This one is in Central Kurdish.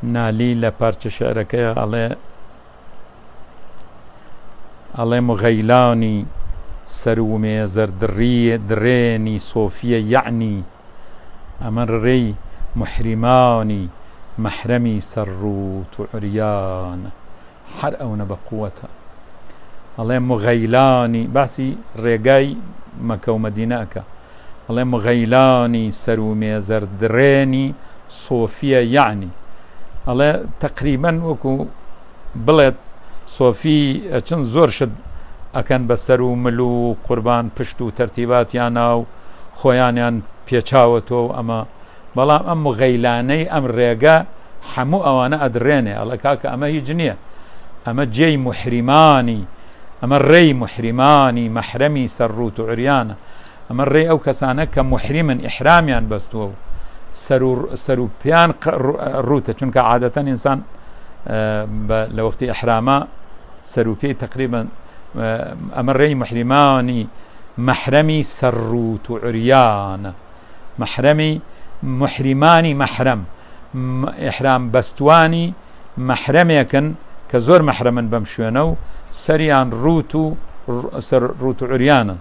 نالی لە پارچە شعرەکەی ئەڵێ ئەڵێ مغەیلانی سەر و مێزەر دڕیە دڕێنی سۆفیە یەعنی ئەمە ڕێی موحریمانی مەحرەمی سەر ڕووت و عوریانە هەر ئەونە بە قوەتە ئەڵێ مغەیلانی باسی ڕێگای مەکە و مەدینە ئەکا ئەڵێ مغەیلانی سەر و مێزەر دڕێنی سۆفیە یەعنی ئەڵێ تەقریبەن وەکو بڵێت سۆفی ئەچن زۆر شت ئەکەن بە سەر و مل و قوربان پشت و تەرتیباتیانە و خۆیانیان پێچاوەتەوە و ئەمە بەڵام ئەم مغەیلانەی ئەم ڕێگە حەموو ئەوانە ئەدڕێنێ ئەڵێ کاکە ئەمە هیچ نییە ئەمە جێی موحریمانی ئەمە ڕێی موحریمانی مەحرەمی سەر ڕووت و عریانە ئەمە ڕێی ئەو کەسانە کە موحریمن ئیحرامیان بەستووە و سەر و سەر و پێیان ڕووتە چونکە عادەتەن ئینسان لە وەختی ئیحراما سەر و پێی تقریبا ئەمە ڕێی موحریمانی مەحرەمی سەر ڕووت و عریانە مەحرەمی موحریمانی مەحرەم ئیحرام بەستوانی مەحرەمێکن کە زۆر مەحرەمن بەم شوێنە و سەریان ڕووت و سەر ڕووت و عریانن.